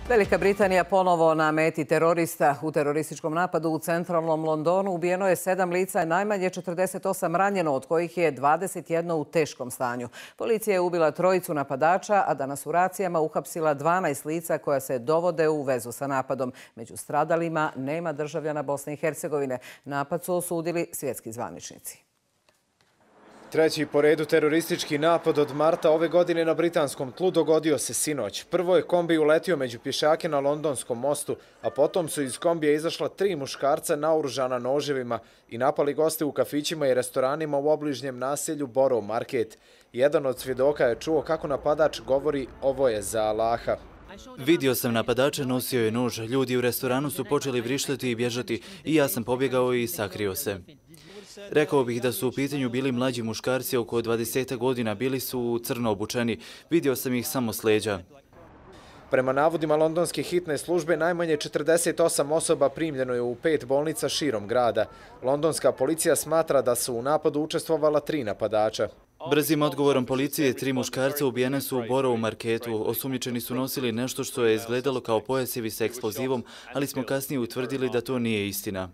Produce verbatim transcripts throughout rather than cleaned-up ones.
Velika Britanija ponovo na meti terorista. U terorističkom napadu u centralnom Londonu ubijeno je sedam lica i najmanje četrdeset osam ranjeno, od kojih je dvadeset jedno u teškom stanju. Policija je ubila trojicu napadača, a danas u racijama uhapsila dvanaest lica koja se dovode u vezu sa napadom. Među stradalima nema državljana Bosne i Hercegovine. Napad su osudili svjetski zvaničnici. Treći po redu teroristički napad od marta ove godine na britanskom tlu dogodio se sinoć. Prvo je kombi uletio među pješake na Londonskom mostu, a potom su iz kombija izašla tri muškarca naoružana noževima i napali goste u kafićima i restoranima u obližnjem naselju Borough Market. Jedan od svjedoka je čuo kako napadač govori "ovo je za Allaha". Vidio sam napadača, nosio je nož. Ljudi u restoranu su počeli vrištati i bježati i ja sam pobjegao i sakrio se. Rekao bih da su u pitanju bili mlađi muškarci oko dvadeset godina, bili su crno obučeni. Vidio sam ih samo s leđa. Prema navodima londonske hitne službe, najmanje četrdeset osam osoba primljeno je u pet bolnica širom grada. Londonska policija smatra da su u napadu učestvovala tri napadača. Brzim odgovorom policije, tri muškarca ubijene su u Borough Marketu. Osumnjičeni su nosili nešto što je izgledalo kao pojasevi sa eksplozivom, ali smo kasnije utvrdili da to nije istina.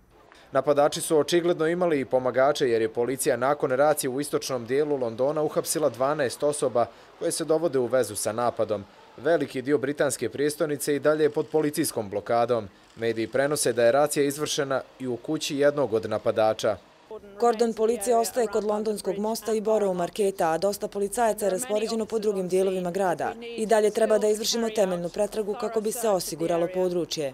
Napadači su očigledno imali i pomagače, jer je policija nakon racije u istočnom dijelu Londona uhapsila dvanaest osoba koje se dovode u vezu sa napadom. Veliki dio britanske prijestolnice i dalje je pod policijskom blokadom. Mediji prenose da je racija izvršena i u kući jednog od napadača. Kordon policije ostaje kod Londonskog mosta i Borough Marketa, a dosta policajaca je raspoređeno po drugim dijelovima grada. I dalje treba da izvršimo temeljnu pretragu kako bi se osiguralo područje.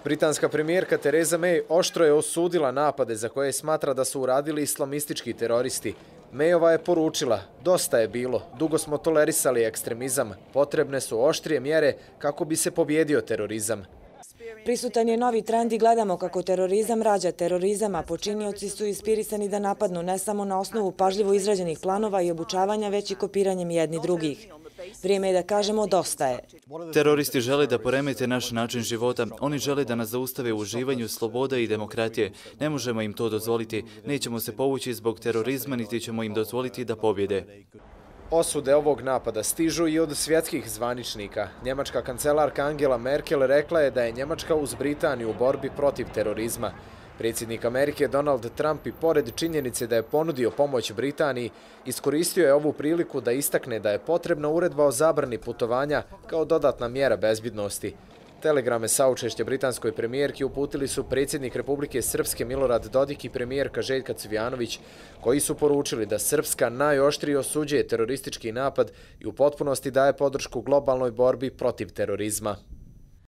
Britanska premijerka Theresa May oštro je osudila napade za koje smatra da su uradili islamistički teroristi. Mayova je poručila: "Dosta je bilo, dugo smo tolerisali ekstremizam, potrebne su oštrije mjere kako bi se pobjedio terorizam." Prisutan je novi trend i gledamo kako terorizam rađa terorizam, a počinioci su inspirisani da napadnu ne samo na osnovu pažljivo izrađenih planova i obučavanja, već i kopiranjem jedni drugih. Vrijeme je da kažemo dosta je. Teroristi žele da poremete naš način života. Oni žele da nas zaustave u uživanju sloboda i demokratije. Ne možemo im to dozvoliti. Nećemo se povući zbog terorizma, niti ćemo im dozvoliti da pobjede. Osude ovog napada stižu i od svjetskih zvaničnika. Njemačka kancelarka Angela Merkel rekla je da je Njemačka uz Britaniju u borbi protiv terorizma. Predsjednik Amerike Donald Trump i pored činjenice da je ponudio pomoć Britaniji, iskoristio je ovu priliku da istakne da je potrebna uredba o zabrani putovanja kao dodatna mjera bezbjednosti. Telegrame saučešća britanskoj premijerki uputili su predsjednik Republike Srpske Milorad Dodik i premijerka Željka Cvijanović, koji su poručili da Srpska najoštrije osuđuje teroristički napad i u potpunosti daje podršku globalnoj borbi protiv terorizma.